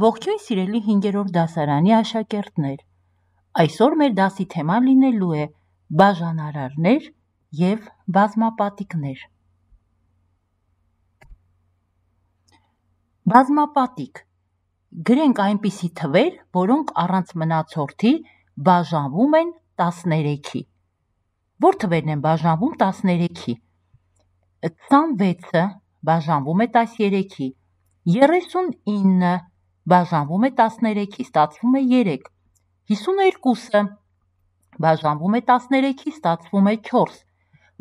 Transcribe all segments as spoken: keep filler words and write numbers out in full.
Ողջույն սիրելի հինգերորդ դասարանի աշակերտներ, այսօր մեր դասի թեման լինելու է բաժանարարներ և բազմապատիկներ։ Բազմապատիկ գրենք այնպիսի թվեր, որոնք առանց մնացորդի բաժանվում են տասներեքի։ Որ թվերն են բաժանվում տասներեքի։ քսանվեցը բաժանվում է տասներեքի, երեսունինը բաժանվում է տասներեքի, ստացվում է երեք, հիսուներկուսը բաժանվում է տասներեքի, ստացվում է չորս,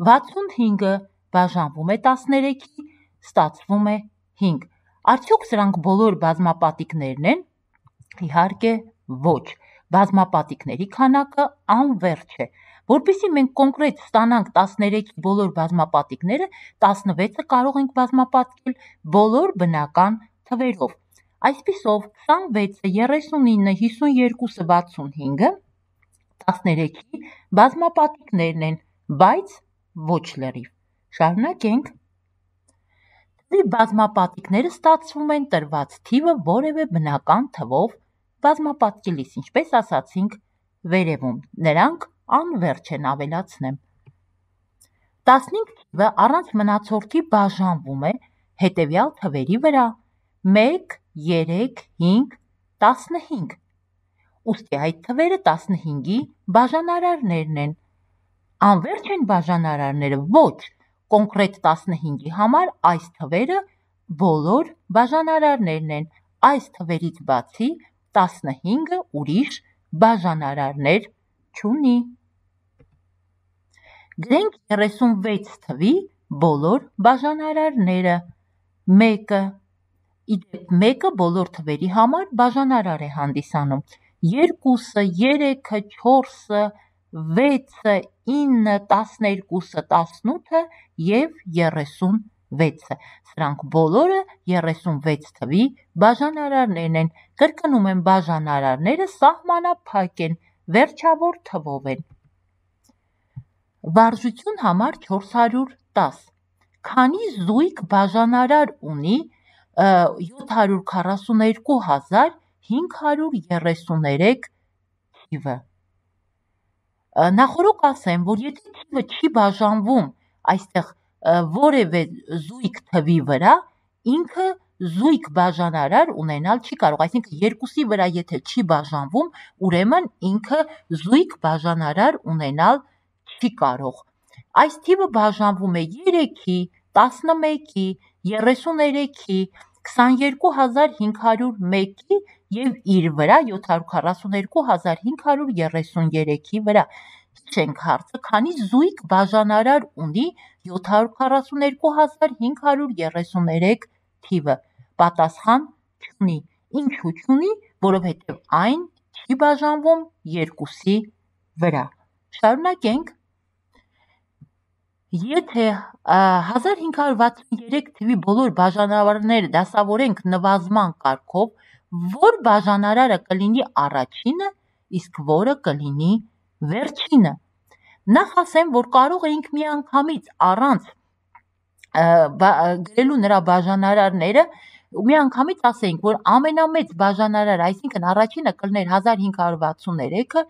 վաթսունհինգը բաժանվում է տասներեքի, ստացվում է հինգ։ Արդյոք սրանք բոլոր բազմապատիկներն են։ Իհարկե ոչ, բազմապատիկների քանակը անվերջ է։ Որպեսզի մենք կոնկրետ ստանանք տասներեքի բոլոր բազմապատիկները, տասնվեցը կարող ենք բազմապատկել բոլոր բնական թվերով։ Այսպիսով քսանվեցը, երեսունինը, հիսուներկուսը, վաթսունհինգը տասներեքի բազմապատիկներն են, բայց ոչ լրիվ։ Շարունակենք։ Թվի բազմապատիկները ստացվում են տրված թիվը որևէ բնական թվով բազմապատկելիս, ինչպես ասացինք վերևում, նրանք անվերջ են, ավելացնեմ։ տասնհինգ թիվը առանց մնացորդի բաժանվում է հետևյալ թվերի վրա՝ մեկ, երեք, հինգ, տասնհինգ։ Ուստի այդ թվերը տասնհինգի բաժանարարներն են։ Անվերջ են բաժանարարները։ Ոչ, կոնկրետ տասնհինգի համար այս թվերը բոլոր բաժանարարներն են։ Այս թվերից բացի տասնհինգը ուրիշ բաժանարարներ չունի։ Գրենք երեսունվեց թվի բոլոր բաժանարարները։ Մեկը, իդեպ մեկը բոլոր թվերի համար բաժանարար է հանդիսանում։ Երկուսը, երեքը, չորսը, վեցը, ինը, տասներկուսը, տասնութը և երեսունվեցը։ Սրանք բոլորը երեսունվեց թվի բաժանարարներն են։ Կրկնում եմ, բաժանարարները սահմանափակ են, վերջավոր թվով են։ Վարժություն համար չորս հարյուր տաս։ Քանի զույգ բաժանարար ունի յոթ հարյուր քառասուներկու հազար հինգ հարյուր երեսուներեք թիվը։ Նախորդ ասեմ, որ եթե թիվը չի բաժանվում այստեղ որևէ զույգ թվի վրա, ինքը զույգ բաժանարար ունենալ չի կարող, այսինքն երկուսի վրա եթե չի բաժանվում, ուրեմն ինքը զույգ բաժանարար ունենալ չի կարող։ Այս թիվը բաժանվում է երեքի, տասնմեկի, երեսուներեքի, քսաներկու հազար հինգ հարյուր մեկի և իր վրա յոթ հարյուր քառասուներկու հազար հինգ հարյուր երեսուներեքի վրա։ Հիշենք հարցը, քանի զույգ բաժանարար ունի յոթ հարյուր քառասուներկու հազար հինգ հարյուր երեսուներեք թիվը։ Պատասխան չունի։ Ինչու չունի, որովհետև այն չի բաժանվում երկուսի վրա։ Շարունակենք։ Եթե հազար հինգ հարյուր վաթսուներեք թվի բոլոր բաժանարարները դասավորենք նվազման կարգով, որ բաժանարարը կլինի առաջինը, իսկ որը կլինի վերջինը։ Նախ ասեմ, որ կարող էինք միանգամից առանց գրելու նրա բաժանարարները միանգամից ասեինք, որ ամենամեծ բաժանարարը, այսինքն առաջինը կլներ հազար հինգ հարյուր վաթսուներեքը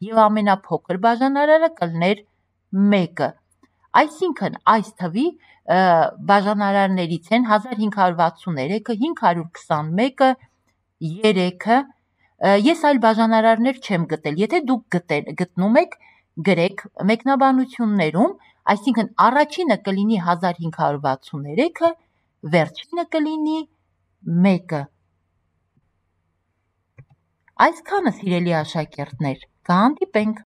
և ամենափոքր բաժանարարը կլներ մեկը։ Այսինքն այս թվի բաժանարարներից են հազար հինգ հարյուր վաթսուներեքը, հինգ հարյուր քսանմեկը, երեքը։ Ես այլ բաժանարարներ չեմ գտել։ Եթե դուք գտնում եք, գրեք մեկնաբանություններում, այսինքն առաջինը կլինի հազար հինգ հարյուր վաթսուներեքը, վերջինը կլինի մեկը։ Այսքանը, սիրելի աշակերտներ, կհանդիպենք։